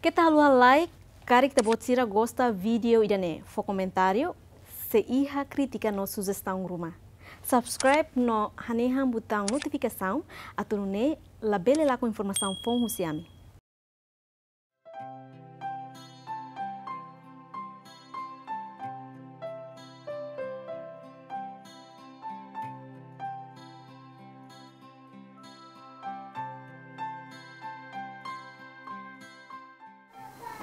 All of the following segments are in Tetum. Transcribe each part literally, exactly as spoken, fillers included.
Keta haluha like, karik ita-boot sira gosta vídeo ida-ne'e, fó komentáriu, sei iha krítika no sujestaun ruma. Subscribe no hanehan butaun notifikasaun, atu nune'e labele lakon informasaun foun husi ami.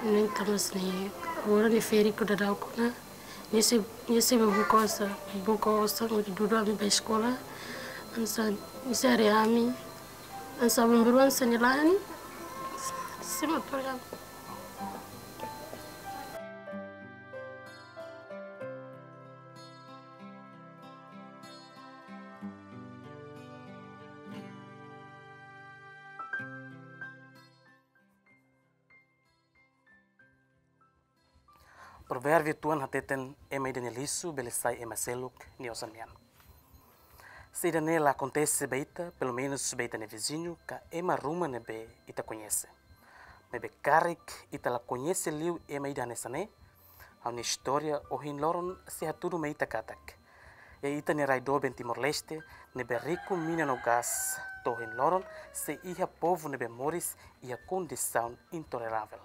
Nia tama sini, agora nia férias daudaun ona. Nia sei, nia sei bá buka osan, buka osan, hodi dudu ami bá eskola. Hanesan, nia sei haree ami. Hanesan, bambaru hanesan nia la'en. Sei motor ami. Provérbiu tuan hateten ema ida nia lixu bele sai ema seluk nia osan nian. Se ida-ne'e la akontese ba ita, pelumenus ba ita-nia viziñu ka ema ruma ne'ebé ita koñese. Maibé karik ita la koñese liu ema ida hanesan ne'e, ha'u-nia istória ohin loron sei hatudu mai ita katak iha ita-nia rai doben Timor-Leste, ne'ebé riku mina no gás, to'o ohin loron sei iha povu ne'ebé moris iha kondisaun intoleravel.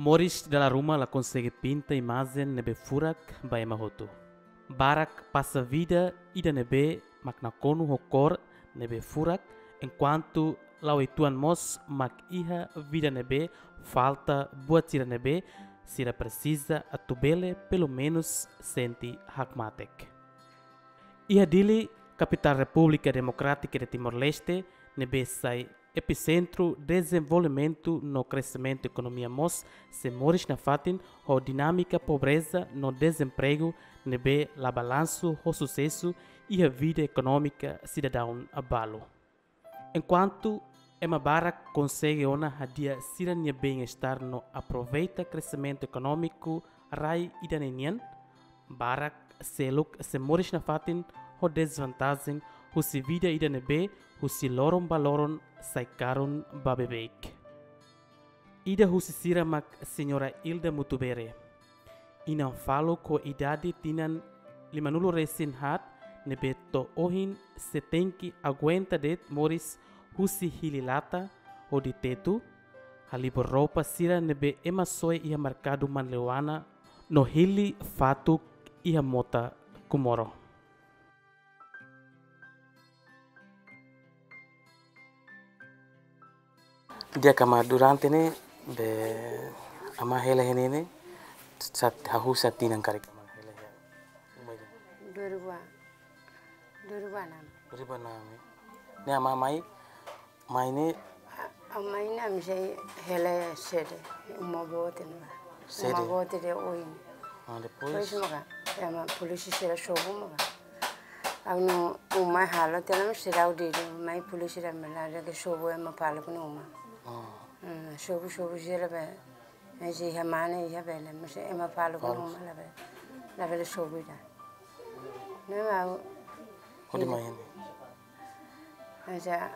Moris dala ruma la konsege pinta imajen ne'ebé furak ba ema hotu. Barak pasa vida ida ne'ebé mak nakonu ho kór ne'ebé furak, enkuantu la'o uitoan mós mak iha vida ne'ebé falta buat sira ne'ebé sira presiza atu bele pelumenus sente hakmatek. Iha Dili, kapitál Repúblika Demokrátika de Timor-Leste, ne'ebé sai episentru dezenvolvimentu no kreximentu ekonomia mós, sei moris nafatin ho dinámika pobreza no dezempregu ne'ebé la balansu ho susesu iha vida ekonómika sidadaun balu. Enkuantu ema barak konsege ona hadi'a sira-nia bem-estar no aproveita kreximentu ekonómiku rai ida-ne'e nian, barak seluk sei moris nafatin ho dezvantajen husi vida ida ne'ebé husi loron ba loron sai karun ba beibeik. Ida husi sira mak Señora Ilda Mutubere. Inan faluk ho idade tinan limanulu resin haat ne'ebé to'o ohin sei tenke aguenta de'it moris husi hili lata hodi tetu, halibur roupa sira ne'ebé ema soe iha merkadu Manleuana no hili fatuk iha mota Comoro. Di'ak, amá, durante ne'e be amá hela iha ne'e ne'e, sá, hahú sá tinan karik amá hela iha uma ida? Dua ribu, dua ribu enam. Dua ribu enam, eh. Ne'e amá mai, mai ne'e? A, amá mai ne'e ami sei hela sede, uma boot ne'ebá. Sede? Uma boot de'it oin. Ah, depois? Depois maka, ema polísia sira sobu maka. Ha'u-nia uma halo tiha ona, seidauk dili, mai polísia ida mai la deke sobu ema paluk nia uma. Ah. Hmm, sobu, sobu sira be, eh, sei iha mane iha bele, mas ema paluk nia uma labele, labele sobu ida. Ne'e mak ha'u. Hodi mai ne'e? Hanesan,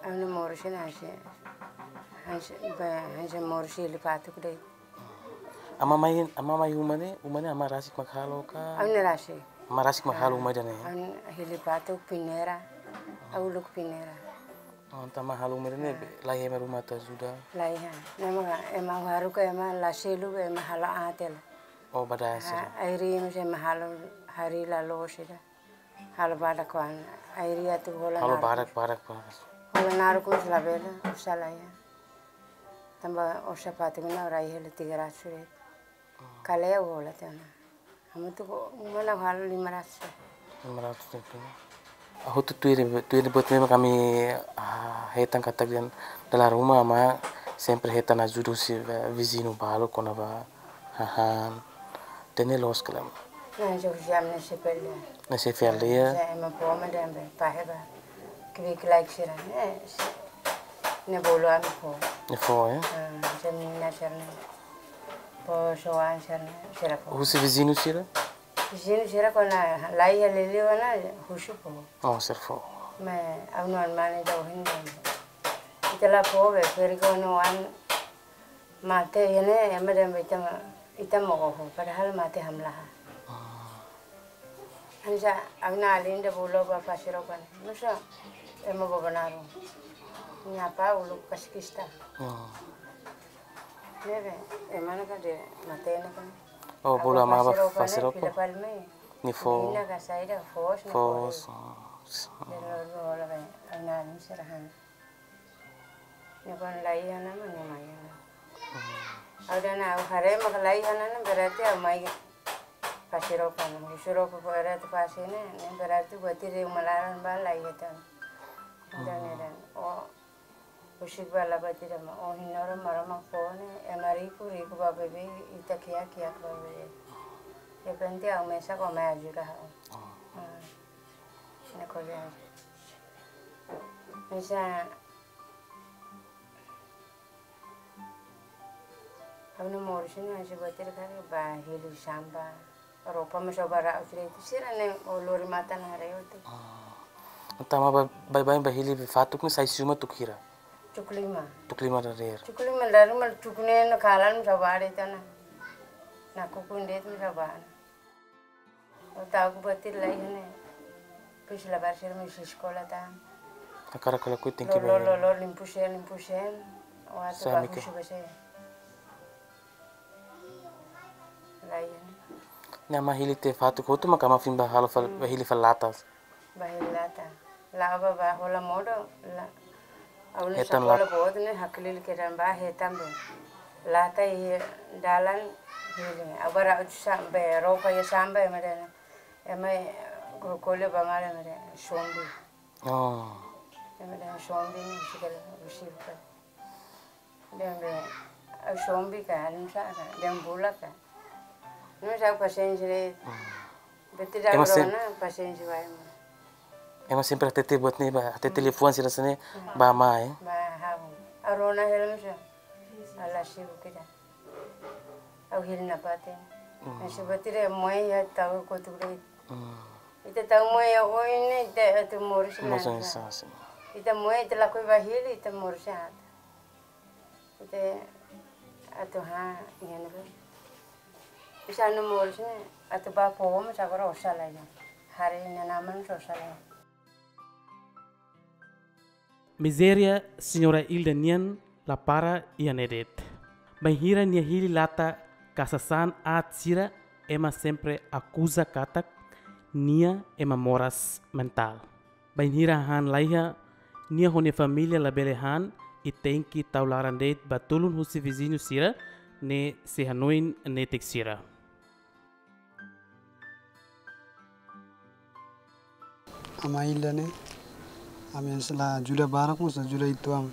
ha'u-nia moris ne'e hanesan, hanesan, be, hanesan moris hili fatuk de'it. Amá mai, amá mai uma ne'e, uma ne'e amá rasik mak halo ka? Ha'u-nia rasik. Amá rasik mak halo uma ida-ne'e? Ha'u-nia hili fatuk, peneira, ha'u uluk peneira. Oh, entaun amá halo uma ida-ne'e, be, laiha ema ruma atu ajuda? Laiha. Ne'e mak, ema haruka ema la selu, ema halo aat hela. Oh, ba da'an sira. Ah, air-rim sei ema halo harii la loos ida. Halo badak kuan, air-rim atu hola naruk. Halo badak, badak, badak. Hola naruk mós labele, uza laiha. Tanba orsida fatuk ne'e rai hela tiga ratus de'it. Kale'u hola tiha ona. Hamutuk uma ne'e halo lima ratus. Lima ratus de'it. Hotu tuir, tuir buat ne'ebé mak ami, ah, hetan katak dehan dala ruma amá sempre hetan ajuda husi, eh, viziñu balu kona-ba hahán. Ida-ne'e loos ka lae? Hanesan husi ami-nia xefe aldeia. Nia xefe aldeia. Hanesan ema fó mak dehan be, fahe ba kbiit-laek sira ne'e, ne'e bolu ami fó. Ne'e fó, ya? Ah, hanesan mina sira-ne'e, fó soan sira-ne'e, sira fó. Husi viziñu sira? Viziñu sira kuandu laiha liuliu ona husu fó. Oh, sira fó. Maibé ha'u-nia oan mane ida ohin dehan, ita la fó be, ferik oan mate iha ne'e, ema dehan be ita mak, ita mak oho, padahal mate hamlaha. Ah. Hanesan ha'u-nia alin ida bolu ba fase roupa ne'e. Nusa, ema Bobonaro. Nia apá uluk kaskista. Ah. Ne'ebé, ema ne'e kan dehan mate ne'e kan. Oh, bolu amá ba fase roupa ne'e, fila fali mai. Nia fó. Mina ka saida, foos, nia fó. Foos, ah, s-, de lor hola be, ha'u-nia alin sira han. Nia kuandu laiha ona mak nia mai ona. Hmm. Ha'u dehan ha'u haree mak laiha ona ne'e berarti ha'u mai fase roupa ne'e. Husu roupa fó rai atu fase ne'e, ne'e berarti buat ida uma laran ba laiha tan. Dehan, hmm, ne'e dehan. Oh, husik ba la buat ida mak. Oh, hino ro Maromak fó ne'e, ema riku, riku ba beibeik, ita kiak, kiak ba beibeik. Yang penting ha'u mesak, ha'u mai ajuda ha'u. Oh. Hmm. Ne'e ko'alia. Hanesan ha'u-nia moris ne'e hanesan buat ida karik ba hili sampah. Roupa mós ha'u ba ra'u sira itu sira-ne'e ha'u lori matan haree hotu. Ah. Entaun amá ba, baibain ba hili fatuk ne'e sai husi uma tuku hira? Tuku lima. Tuku lima dadeer. Tuku lima dadeer maibé tuku ne'e no kalan mós ha'u ba de'it ona. Nakukun de'it mós ha'u ba ona. Ha'u ta'uk buat ida laiha ne'e. Depois labarik sira mós eskola tan. Hakarak ka lakohi tenke ba. Lor, lor, lor, limpu seen, limpu seen. Ha'u atu ba husu ba seen. Laiha ne'e. Ne'e amá hili tiha fatuk hotu maka amá foin ba halo fal-, hmm, ba hili fali lata. Ba hili lata. La'o ba, ba hola modo, la. Ha'u-nia sakola boot ne'e haklili kedan ba hetan be. Lata iha dalan hili. Ha'u ba ra'u sa-, be roupa iha sampah ema dehan. Ema, eh, ko'alia ba mala ema dehan sombi. Oh. Ema dehan sombi ne'e husi kala husi buka. Dehan be, ha'u sombi ka, anu sa ka, dehan bula ka. Nusa pasiénsia de'it. Hmm. Berarti ema sem-, rona pasiénsia ba ema. Ema sempre hatete buat ne'e ba, hatete, hmm, liafuan sira hanesan ne'e, hmm, ba amá, eh? Ba ha'u. Ha'u rona hela nusa. Ha'u la sibuk ida. Ha'u hili nafatin. Hmm. Hanesan buat ida moe iha tau kotuk de'it. Hmm. Ita tau moe iha oin ne'e, ita atu moris. Moris hanesan ne'e. Ita moe, ita lakohi ba hili, ita moris haat. Ita atu han, iha ne'ebá. Hanesan ha'u-nia moris ne'e, atu ba fó mós agora osan laiha. Haree inan-aman mós osan laiha. Mizéria señora Ilda nian la para iha ne'e de'it. Bainhira nia hili lata ka sasán aat sira, ema sempre akuza katak nia ema moras mentál. Bainhira han laiha, nia ho nia família labele han, i tenke tau laran de'it ba tulun husi viziñu sira, ne'e sei hanoin netik sira. Amá Ilda ne'e, ami hanesan la ajuda barak mós, ajuda uitoan.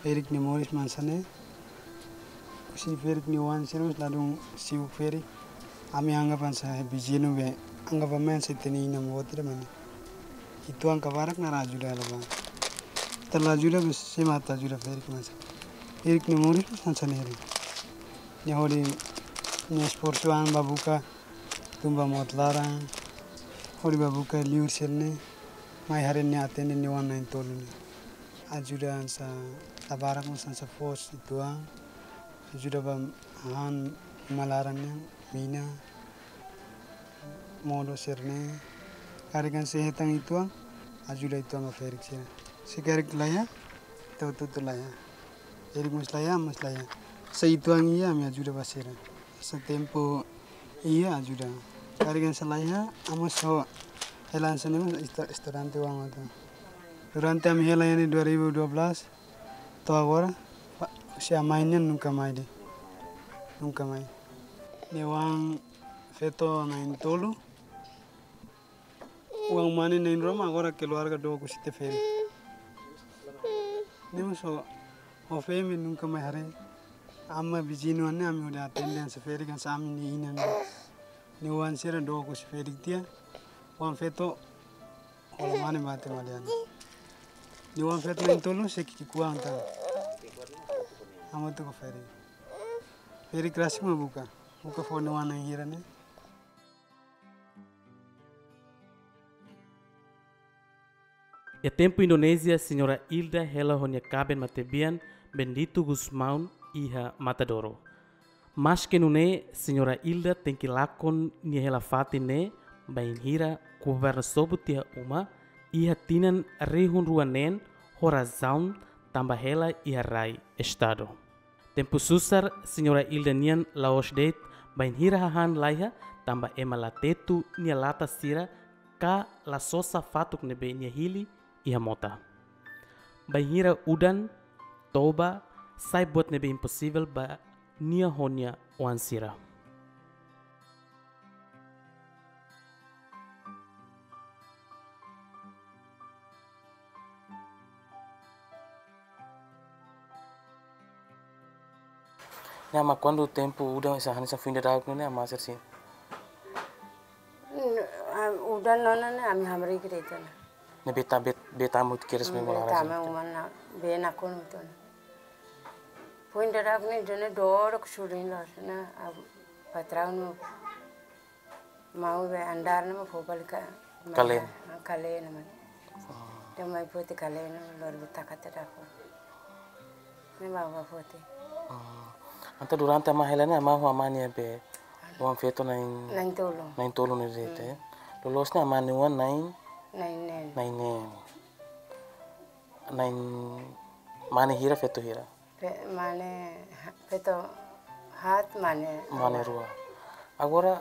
Ferik nia moris mak hanesan ne'e. Husi ferik nia oan sira mós ladún sibuk ferik. Ami anggap hanesan viziñu be, anggap ami hanesan ita-nia inan boot ida mak ne'e. Uitoan ka barak naran ajuda hela ba. Ita la ajuda be sé mak atu ajuda ferik mak hanesan. Ferik nia moris mak hanesan ne'e. Nia hodi, nia esforsu an ba buka tun ba mout laran, hodi ba buka liur sira-ne'e, mai haree nia atende nia oan na'in-tolu ne'e. Ajuda hanesan la barak mós hanesan foos uitoan, ajuda ba han uma laran nian, mina, modo sira-ne'e. Karik hanesan hetan uitoan, ajuda uitoan ba ferik sira. Se karik laiha, ita hotu-hotu laiha. Ferik mós laiha, mós laiha. Se uitoan iha, ami ajuda ba sira. Se tempu iha, ajuda. Karik hanesan laiha, ami só hela hanesan ne'e mós estu-, estudante oan atu. Durante ami hela iha ne'e dua ribu dua belas, to'o agora, pa-, se amá nian nunka mai de'it. Nunka mai. Nia oan feto na'in-tolu. Oan mane na'in-rua mak agora keluarga dook husi ita ferik. Ne'e mós ho, ho feen be nunka mai haree. Amá viziñu ne'e ami hodi atende hanesan ferik hanesan ami-nia inan. Nia oan sira dook husi ferik tiha, oan feto hola mane mate malian. Nia oan feto na'in-tolu sei ki'ikoan tan. Hamutuk ho ferik. Ferik rasik mak buka. Buka fó nia oan na'in hira ne'e. Iha tempu Indonézia, Señora Ilda hela ho nia kaben matebian Bendito Gusmão iha Matadouro. Maske nune'e, Señora Ilda tenke lakon nia hela-fatin ne'e bainhira governu sobu tiha uma iha tinan rihun rua neen ho razaun tanba hela iha rai Estadu. Tempu susar, Señora Ilda nian la'ós de'it bainhira hahán laiha tanba ema la tetu nia lata sira ka la sosa fatuk ne'ebé nia hili iha mota. Bainhira udan, toba, sai buat ne'ebé imposivel ba nia ho nia oan sira. Ne'e, amá, kuandu tempu udan, hanesan, hanesan foin daudauk ne'e, amá sira sente? Mm, ah, udan ona ne'e, ami hamriik de'it ona. Ne'e bee ta-, bee, bee tama hotu kedas. Mm, bee tama uma ne'e, bee nakonu hotu ona. Foin daudauk ne'e, dene doro kusurin los, ne'e, ah, patraun no mau bee andár ne'e mak fó fali ka, kaleen. Ah, kaleen ne'e mak. Oh. Entaun mai foti kaleen ne'e lori bee taka tiha dafur. Ne'e bá, bá foti. Oh. Entaun durante amá hela ne'e, amá ho amá nia bee oan feto na'in, na'in-tolu. Na'in-tolu ne'e de'it, hmm, eh. Loloos ne'e amá nia oan na'in, na'in-neen. Na'in-neen. Na'in mane hira, feto hira? Fe-, mane ha-, feto haat, mane, mane rua. Rua. Agora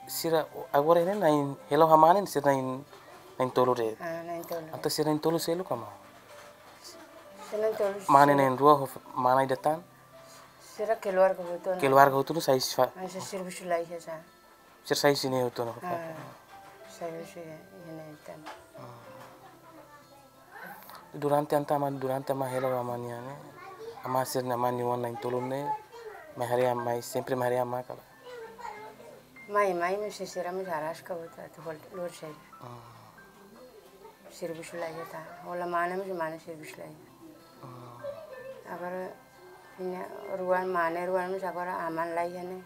sira, agora ne'e na'in, hela ho amá ne'e sira na'in, na'in-tolu de'it. Ah, na'in-tolu. Entaun sira na'in-tolu seluk ka, amá? Sira na'in-tolu seluk. Mane na'in-rua ho f-, mana ida tan? Sira keluarga hotu ona. Keluarga hotu ona sai fa-, ah, sira servisu laiha sá. Sira sai husi ne'e hotu ona. Ah, sai husi ne'e tan. Durante entaun amá, durante amá hela ho amá nian ne'e, amá sira-nia, amá nia oan na'in-tolu ne'e mai haree amá, sempre mai haree amá ka lae? Mai, mai, maibé sira mós araska buat atu hol-, lori saida. Hmm. Servisu laiha tan. Hola mane, maibé mane servisu laiha. Hmm. Agora, nia oan rua, mane rua, maibé agora aman laiha ne'e.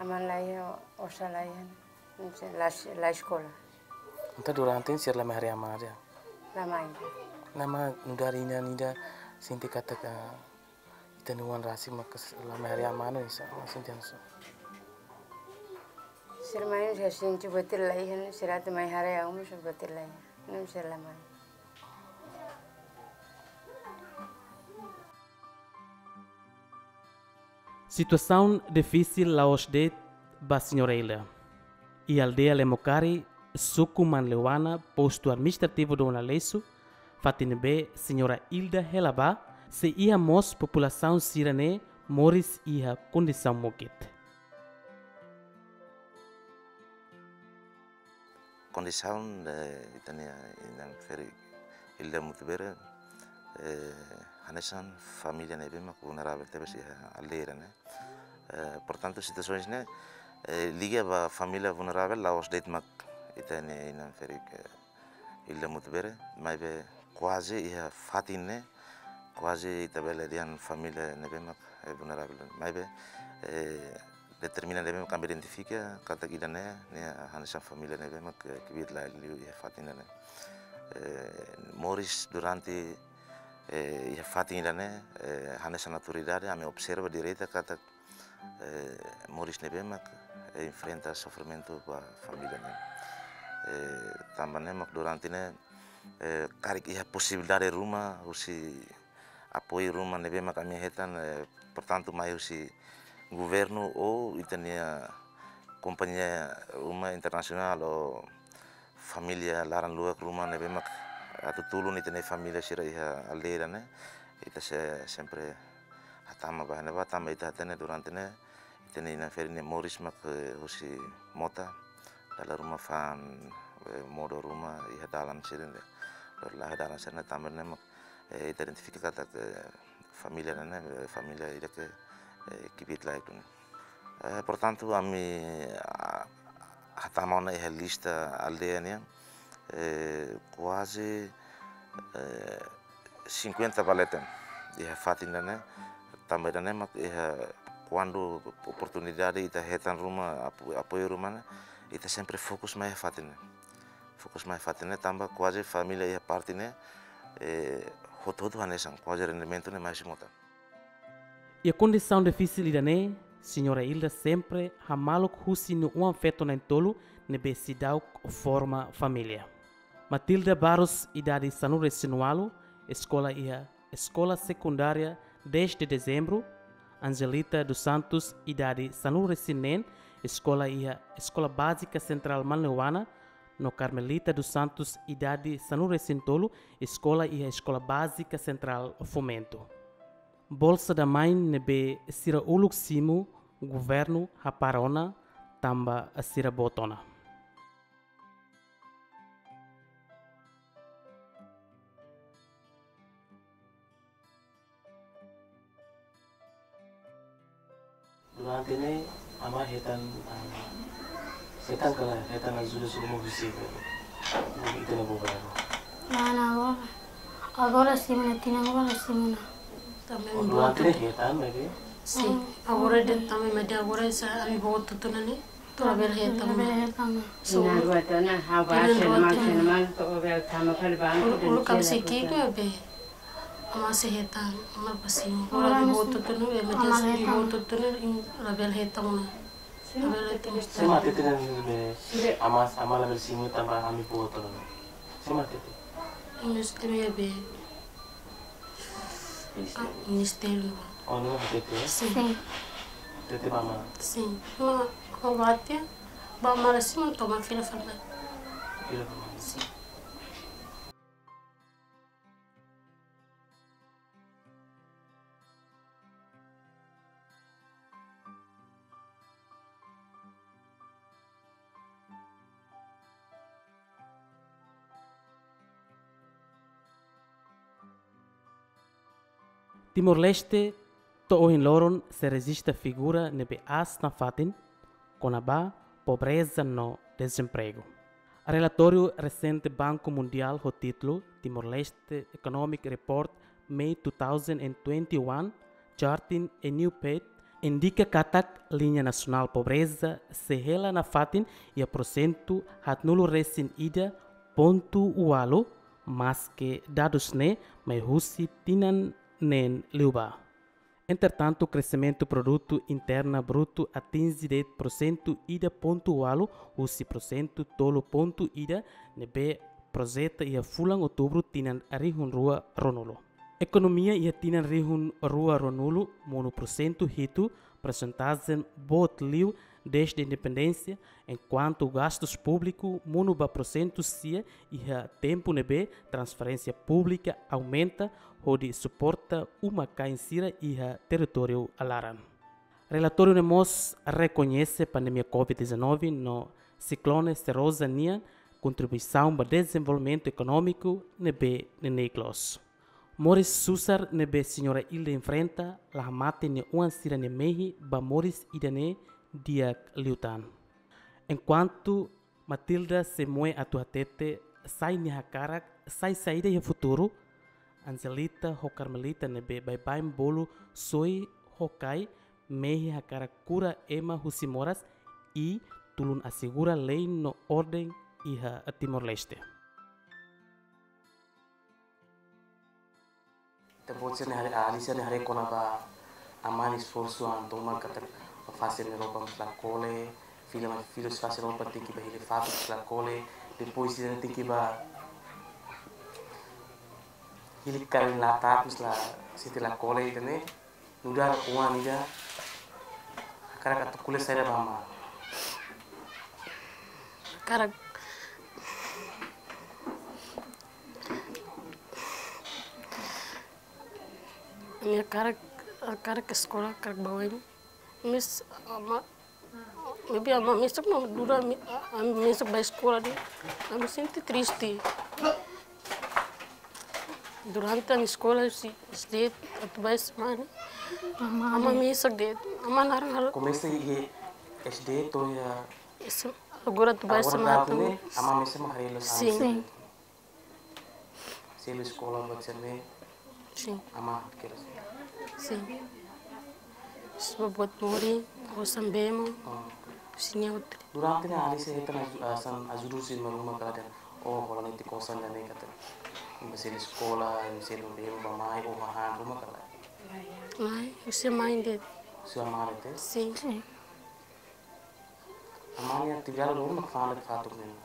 Aman laiha, osan laiha ne'e. Maibé la, la eskola. Entaun durante ne'e sira la mai haree amá de'it? La mai. Ne'e amá nu'udar inan ida sente katak ita-nia oan rasik mak la mai haree amá ne'e, oinsá amá sente hanesan? Sira mai, sira sente buat ida laiha, sira atu mai haree ha'u mós buat ida laiha. Ne'e sira la mai. Situasaun difisil la'ós de'it ba Señora Ilda. Iha aldeia Lemokari, suku Manleuana, postu administrativu Dona Aleixo, fatin ne'ebé Señora Ilda hela ba, sei iha mós populasaun sira-ne'e moris iha kondisaun mukit. Kondisaun, eh, ita-nia inan ferik Ilda Mutubere, eh, hanesan família ne'ebé mak vulneravel tebes iha aldeia ne'e. Eh, portantu, situasaun ne'e, eh, liga ba família vulneravel la'ós de'it mak ita-nia inan ferik, eh, Ilda Mutubere, maibé kuaze iha fatin ne'e, kuaze ita bele dehan família ne'ebé mak, eh, vulneravel. Maibé, eh, determina ne'ebé mak ami identifika katak ida-ne'e, ne'e hanesan família ne'ebé mak, eh, kbiit-laek liu iha fatin ida-ne'e. Eh, moris durante, eh, iha fatin ida-ne'e, eh, hanesan autoridade ami observa direta katak eh, moris ne'ebé mak, eh, enfrenta sofrimentu ba família ne'e. Eh, tanba ne'e mak durante ne'e, eh, karik iha posibilidade ruma husi apoiu ruma ne'ebé mak ami hetan, eh, portantu mai husi governu ou ita-nia kompañia ruma internasionál ou família laran-luak ruma ne'ebé mak atu tulun ita-nia família sira iha aldeia ne'e, ita sei sempre hatama ba ne'ebá tanba ita hatene durante ne'e, ita-nia inan ferik nia moris mak, eh, husi mota, dala ruma fa'an, eh, modo ruma iha dalan sira-ne'e. Lori laiha dalan sira-ne'e tanba ne'e mak, eh, ita identifika katak família ne'e, eh, família ida ke, eh, kbiit-laek duni. Eh, portantu, ami, ah, hatama ona iha lista aldeia nian, eh, kuaze, eh, cinquenta ba leten iha fatin ida-ne'e, tanba ida-ne'e mak iha kuandu oportunidade ita hetan ruma, apo-, apoiu ruma ne'e, ita sempre fokus mai iha fatin ne'e. Fokus mai iha fatin ne'e, tanba kuaze família iha parte ne'e, eh, hotu-hotu hanesan, kuaze rendimentu ne'e mai husi mota. Iha kondisaun difisil ida-ne'e, Señora Ilda sempre hamaluk husi nia oan-feto na'in-tolu ne'ebé seidauk forma família. Matilda Barros, idade sanulu-resin-ualu, eskola iha Eskola Sekundária Dez de Dezembro. Angelita dos Santos, idade sanulu-resin-neen, eskola iha Eskola Bázika Sentrál Manleuana, no Carmelita dos Santos, idade sanulu-resin-tolu, eskola iha Eskola Bázika Sentrál Fomento. Bolsa da Mãe ne'ebé sira uluk simu, governu hapara ona tanba sira boot ona. Durante ne'e, amá hetan, ah, hetan kala, hetan ajuda sira mós husi ita-nia governu? Lae, lae, agora. Agora simu ona, tinan agora simu ona. Tanba durante ne'e hetan, maibé? Sin, agora de'it tanba, maibé agora sá ami boot hotu-hotu ona ne'e. Labele hetan. Labele hetan. So, tinan rua tiha ona, ha'u tinan baixa rua tiha ona. Uluk, uluk ami sei ki'ik ne'ebé amá sei hetan, amá pasimu. Agora ami boot hotu-hotu ona, maibé ami boot hotu-hotu ona, labele hetan ona. Labele hetan. Sé mak hatete ne'ebé amá, amá labele simu tanba ami boot ona? Sé mak hatete? Ami sei temi be. Ministériu. Ah, ministériu. Oh, ne'e hatete? Sin. Sin. Hatete ba amá? Sin. Mak, mak hatete ba amá, la simu, to'o mak fila fali. Fila fali. Sin. Timor-Leste, to'o ohin loron sei rejista figura ne'ebé aas nafatin kona-ba pobreza no dezempregu. Relatóriu resente Banku Mundiál ho títulu Timor-Leste Economic Report May two thousand and twenty-one, Charting a New Path, indika katak liña nasionál pobreza sei hela nafatin iha porsentu haatnulu-resin-ida pontu ualu, maske dadus ne'e mai husi tinan neen liubá. Entretantu, kreximentu Produtu Interna Brutu atinje de'it porsentu ida pontu ualu husi porsentu tolu pontu ida ne'ebé projeta iha fulan Outubru tinan rihun rua ruanulu. Ekonomia iha tinan rihun rua ruanulu monu porsentu hitu, persentajen boot liu dezde independénsia, enkuantu gastus públiku monu ba porsentu sia iha tempu ne'ebé transferénsia públika aumenta hodi suporta uma-kain sira iha territóriu laran. Relatóriu ne'e mós rekoñese pandemia covid dezanove no siklone Seroja nian kontribuisaun ba dezenvolvimentu ekonómiku ne'ebé neineik loos. Moris susar ne'ebé Señora Ilda enfrenta la hamate nia oan sira-nia mehi ba moris ida-ne'e di'ak liután. Enkuantu Matilda sei moe atu hatete sai nia hakarak sai saida iha futuru, Angelita ho Carmelita ne'ebé baibain bolu soi ho kai, mehi hakarak kura ema husi moras i tulun asegura lei no orden iha Timor-Leste. Ita-boot sira-ne'e haree, ah, alin sira-ne'e haree kona-ba amá nia esforsu an tomak katak fase nia ropa mós la kole, fila mai, fila fase ropa tenke ba hili fatuk mós la kole, depois sira tenke ba hili karin latak mós la sente la kole, ida-ne'e nu'udar oan ida hakarak atu ko'alia saida ba amá? Hakarak, ami hakarak, hakarak eskola, hakarak ba oin. Maibé amá, maibé amá mesak mak duda ami, a-, ami mesak ba eskola de'it. Ami sente triste. Durante ami eskola husi S D atu ba S M A ne'e, Amá, amá mesak de'it. Amá naran halo. Komesa iha S D to'o iha. Agora atu bá S M A. Agora atu ne'e, amá mesak mak haree loos. Sin. Sin. Selu eskola buat sira-ne'e. Sin. Amá kedas. Sin. Só buat morin, osan bee mak. Oh. Sin, outro. Durante ne'e Alicia hetan aju-, ah, hanesan ajuda husi maromak ka lae? Ou hola netik osan ida-ne'e katak, imi selu eskola, imi selu bee mak ba mai, ou hahán ruma ka lae? Lae, husi amá de'it. Husi amá de'it? Sin. Sin. Amá nia atividade loron mak fa'an fatuk ne'e?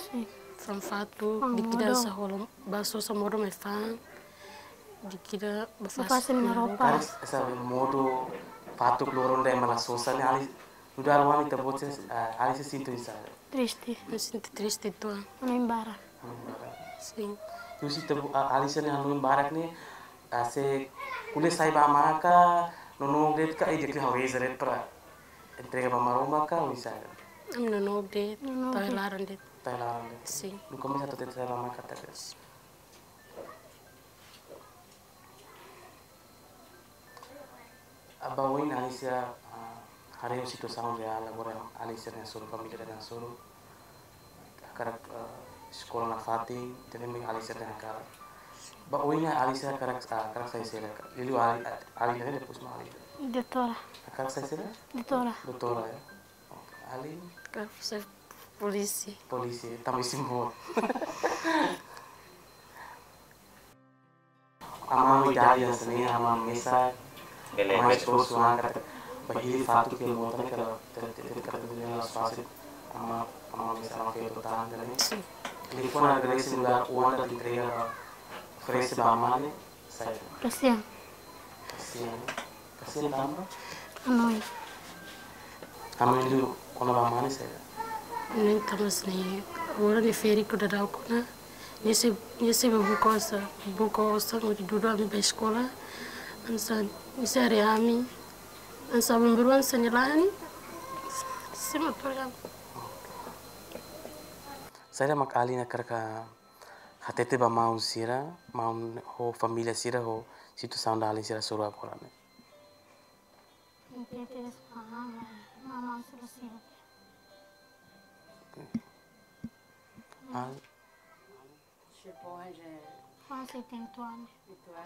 Sin. Fa'an fatuk, fa'an dikira modo. Sá hola, bá sosa modo mai fa'an, dikira bá fase, bá fase nia roupa. Karik hanesan modo fatuk loron ida ema la sosa ne'e, Ali, nu'udar oan ita-boot sira, ah, Alicia sente oinsá? Triste. Ha'u sente triste uitoan. Hanoin barak. Hanoin barak. Sin. Husi ita-boot, ah, Alicia nia hanoin barak ne'e, ah, sei ko'alia sai ba amá ka, nonook de'it ka, eh, di'ak liu ha'u reza de'it para entrega ba maromak ka, oinsá? Ami nonook de'it, nonook de'it. Tau iha laran de'it. Tau iha laran de'it. Sin. Nunka mais atu hatete sai ba amá katak. Ba oin Alicia, ah, haree situasaun reál agora Alicia nia hasoru, família nia hasoru. Hakarak, ah, eskola nafatin, ida-ne'e mak Alicia nia hakarak. Ba oin Alicia hakarak, ah, hakarak sai saida ka? Liuliu Ali, Ali ne'e depois mak Ali. Doutora. Hakarak sai saida? Doutora. Doutora, ya. Oke, Ali? Hakarak sai polísia. Polísia, tanba isin boot. Amá ho idade hanesan ne'e, amá mesak, bele, amá bele esforsu an katak, ba hili fatuk iha mota ne'e katak, te, te, te, katak dunia la'ós fasil, amá, amá mesak, amá feto tan ne'e. Sin. Liafuan agradese nu'udar oan atu entrega, oferese ba amá ne'e, saida? Kasihan. Kasihan. Kasihan tanba? Hanoin. Hanoin liu kona-ba amá ne'e saida? Hanoin tanba hanesan ne'e, agora ne'e fériu daudaun ona. Nia sei, nia sei bá buka osan, buka osan hodi dudu ami bá eskola. Hanesan, nia sei haree ami. Hanesan ami-nia oan hanesan ne'e la'en. Sei matur ami. Saida mak Ali hakarak hatete ba maun sira, maun ho família sira ho situasaun ida Alicia nia hasoru agora ne'e? Oke. Al-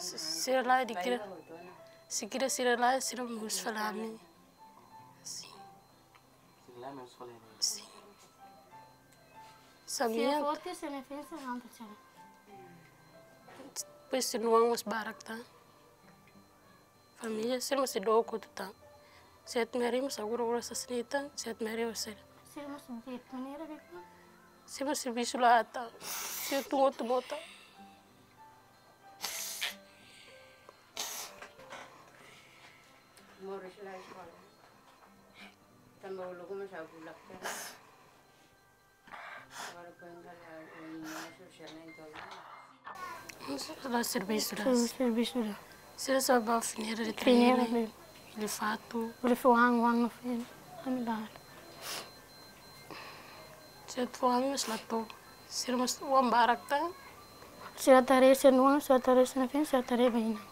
Sira la'e, dikira, se kira sira la'e, sira mós fali ami. Sin. Sira la'e mós fali ami. Sin. Sira forte, sira defensa, não, tá. Depois sira-nia oan mós barak tan. Família sira mós sei dook hotu tan. Sira-nia haree mós agora oras hanesan ne'e tan, sira-nia haree mós sira. Sira mós de'it maneira beko. Sira mós servisu la aat tan. Sira tun hotu mota. Moris la eskola. Tanba uluk mós bulak tan. Agora foin kala, eh, sosial ne'e tolu. Sira servisu la. Sira servisu la. Sira só bá fineira de fineira, treine, bele fatuk. Bele fó oan, oan no fim. Ami la. Sira fó oan mós la to'o. Sira mós oan barak tan. Sira atu haree sira-nia oan, sira atu haree sira-nia feen, sira atu haree ba inan.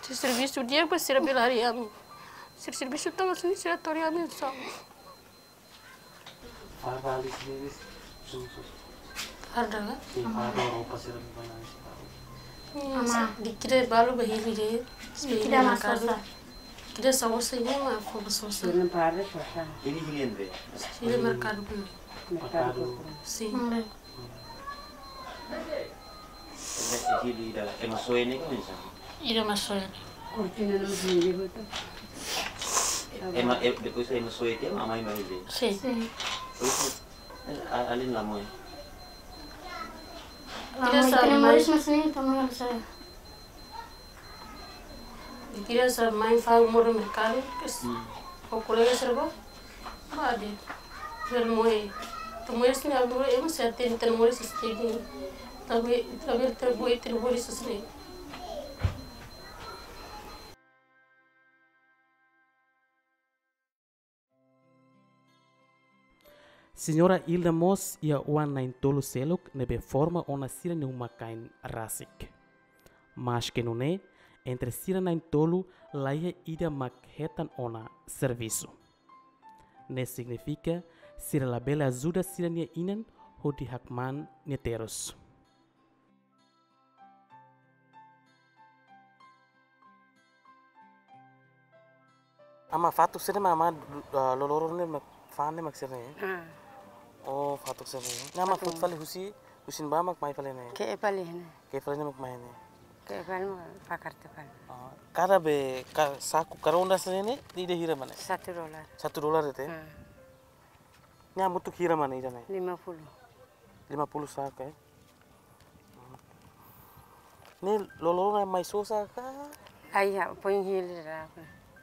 Sira servisu di'ak ba sira bele haree ami. Sira servisu tan, mas sira atu haree ami sá. Farda Alicia ne'e, su, su. Farda ka? Sin, farda, roupa sira ne'ebé Alicia. Amá. Dikira balu ba hili de'it. Dikira mak sosa. Dikira sosa, nia mak fó ba sosa. Sira-nia farda sosa. Hili, hili ne'ebé? Hili merkadu. Merkadu. Sin. Ida, ida, ema soe ne'e ka oinsá? Ida ema soe. Kortina no sini betul. Ema, e, depois ema soe tiha, amá mai hili. Sin. Sin. Depois, eh, a, alin la moe. La moe, ita-nia moris hanesan ne'e, ita-nia moris hanesan ne'e. Dikira sá mai fa'an modo merkadu, kes. Hmm. Ho kolega sira bá. Bá de'it. Bele moe. Ita-nia moris ne'e agora ema sira hatene ita-nia moris hanesan ne'e. Ita bele, ita bele, ita bele, ita-nia moris hanesan ne'e. Señora Ilda mós iha oan na'in-tolu seluk ne'ebé forma ona sira-nia uma-kain rasik. Maske nune'e, entre sira na'in-tolu laiha ida mak hetan ona servisu. Ne'e signifika sira labele ajuda sira-nia inan hodi hakmaan nia terus. Ama, fatuk sira-ne'e mak, ama, ah, loroloron ne'e mak, fa'an ne'e mak sira-ne'e? Ah. Oh, fatuk sira-ne'e. Ne'e ama, fatuk, foti fali husi, husi ne'ebá mak mai fali ne'e? Ke'e fali ne'e. Ke'e fali ne'e mak mai ne'e? Ke'e fali mak pakar te fali. Ah, kada be, ka, saku, kada ronda sira-ne'e, ida hira mak ne'e? Satu dolar. Satu dolar de'it? Ah. Ne'e hamutuk hira mak ne'e ida-ne'e? Lima puluh. Lima puluh saku, eh? Ne'e loroloron ne'e mai sosa ka? Ai, ya, foin hili dala.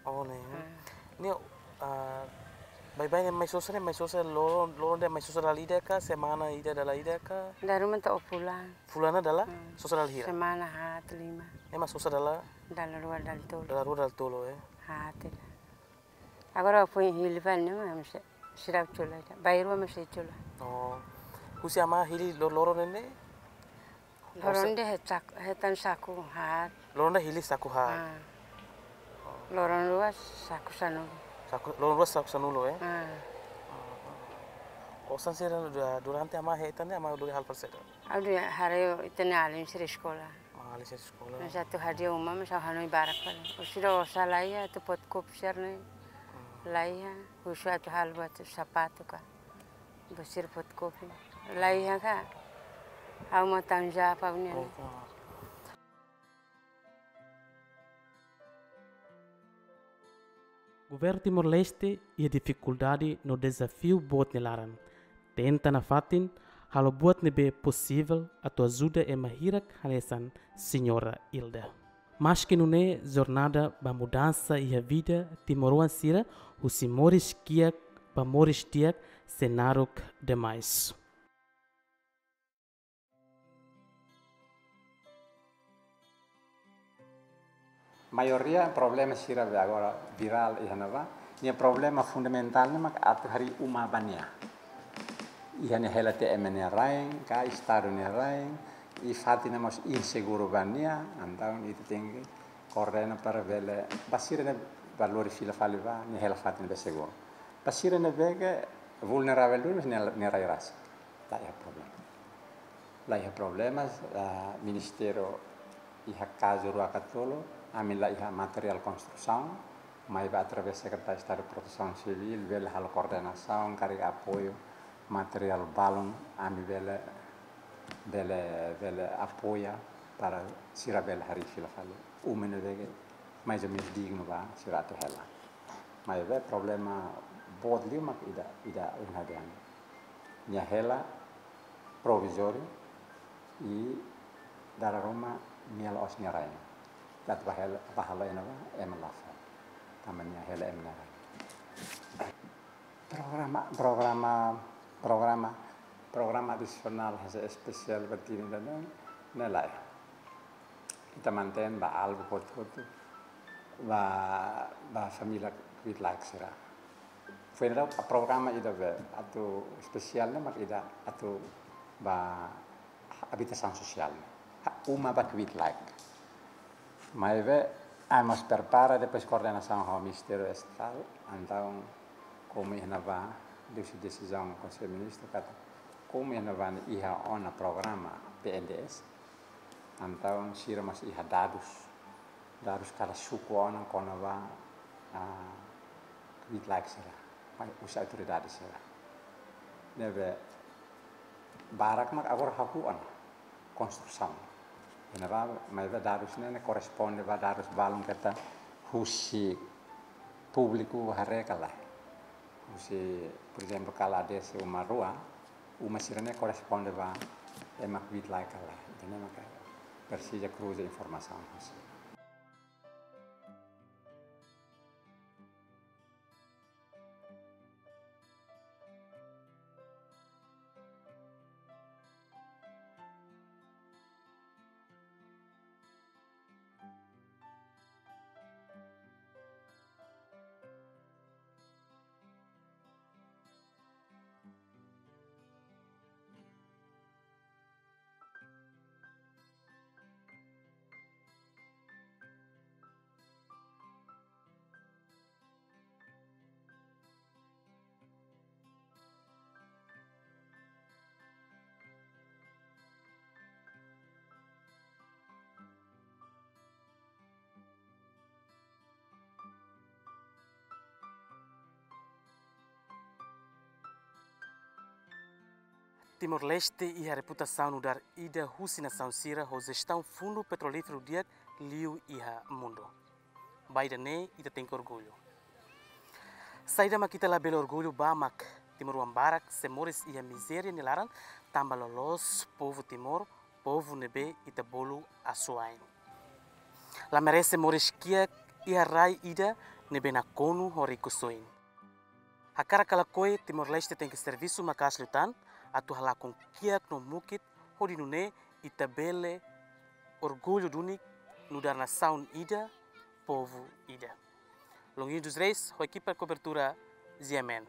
Oh, ne'e. Hmm. Ne'e, ah, baibain ne'e mai sosa ne'e, mai sosa loroloron, loroloron ne'e mai sosa dala ida ka, semana ida dala ida ka? Dala ruma to'o fulan. Fulan dala? Hmm. Sosa dala hira? Semana haat lima. Ne'e mai sosa dala? Dala rua dala tolu. Dala rua dala tolu, eh? Haat ida. Agora foin hili fali ne'e mak seidauk cola ida. Bainrua mak sei cola. Oh. Husi ama hili loroloron ne'e? Loroloron de'it het sak-, hetan saku haat. Loroloron de'it hili saku haat. Ah. Loroloron rua saku sanulu. Saku, loroloron rua saku sanulu, eh? Ah. Osan sira du-, durante ama hetan ne'e ama hodi halo fali saida? Ha'u hodi haree ita-nia alin sira eskola. Ah, alin sira eskola. Mas atu hadi'a uma, mas ha'u hanoin barak fali. Husi ida osan laiha, atu fotokópia sira-ne'e. Hmm. Laiha, husu atu halo buat sapatu ka. Buat sira fotokópia. Laiha ka. Ha'u mak tanggung jawab ha'u-nian. Oh, oh. Governu Timor-Leste iha difikuldade no dezafiu boot nia laran. Tenta nafatin halo buat ne'ebé posivel atu ajuda ema hirak hanesan Señora Ilda. Maski nune'e, jornada ba mudansa iha vida timoroan sira husi moris kiak ba moris di'ak sei naruk demais. Maioria problema sira be agora virál iha ne'ebá, nia problema fundamentál ne'e mak atu harii uma ba nia. Iha nia hela tiha ema nia rain, ka estadu nia rain, i fatin ne'e mós inseguru ba nia, entaun ita tenke koordena para bele, ba sira ne'ebé lori fila fali ba, nia hela fatin ne'ebé seguru. Ba sira ne'ebé ke vulneravel duni, nia, nia rai rasik. La iha problema. La iha problema, ah, ministériu iha kazu rua ka tolu, ami la iha materiál konstrusaun, maibé através Sekretáriu Estadu Protesaun Sivíl, bele halo koordenasaun, karik apoiu materiál balun, ami bele, bele, bele apoia para sira bele harii fila fali. Uma ne'ebé ke mais ou menus dignu ba sira atu hela. Maibé problema boot liu mak ida, ida ohin ha'u dehan. Nia hela provizóriu i dala ruma nia la'ós nia rain. Atu bá hela, bá halo iha ne'ebá, ema la fó. Tanba nia hela ema nia rain. Programa, programa, programa, programa adisionál hanesan espesiál ba Tini dan ne'e lae. Ita mantein ba alvu hotu-hotu ba, ba família kbiit-laek sira. Foin ha'u programa ida be atu espesiál ne'e mak ida atu ba abitasaun sosiál ne'e. Ha, uma ba kbiit-laek. Maibé, ami mós prepara, depois koordenasaun ho Ministériu Estatál, entaun komu iha ne'ebá, liuhusi desizaun Konsellu Ministru katak, komu iha ne'ebá ne'e iha ona programa P N D S, entaun sira mós iha dadus, dadus kada suku ona kona-ba, ah, kbiit-laek sira, mai husi autoridade sira. Ne'ebé barak mak agora hahú ona konstrusaun. Iha ne'ebá, maibé dadus ne'e, ne'e korresponde ba dadus balun keta husi públiku haree ka lae. Husi, por ezemplu, kala dese uma rua, uma sira-ne'e korresponde ba ema kbiit-laek ka lae. Ida-ne'e maka presiza kruza informasaun husi. Timor-Leste iha reputasaun nu'udar ida husi nasaun sira ho jestaun fundu petrolíferu di'ak liu iha mundu. Ba ida-ne'e ita tenke orgullu. Saida mak ita labele orgullu ba mak timoroan barak sei moris iha mizéria nia laran tanba loloos povu Timor, povu ne'ebé ita bolu asuwa'in. La merese moris kiak iha rai ida ne'ebé nakonu ho rikusoin. Hakarak ka lakohi, Timor-Leste tenke servisu maka'as liután atu halakon kiak no mukit hodi nune'e ita bele orgullu duni nu'udar nasaun ida, povu ida. Longuinho dos Reis, ho ekipa kobertura G M N.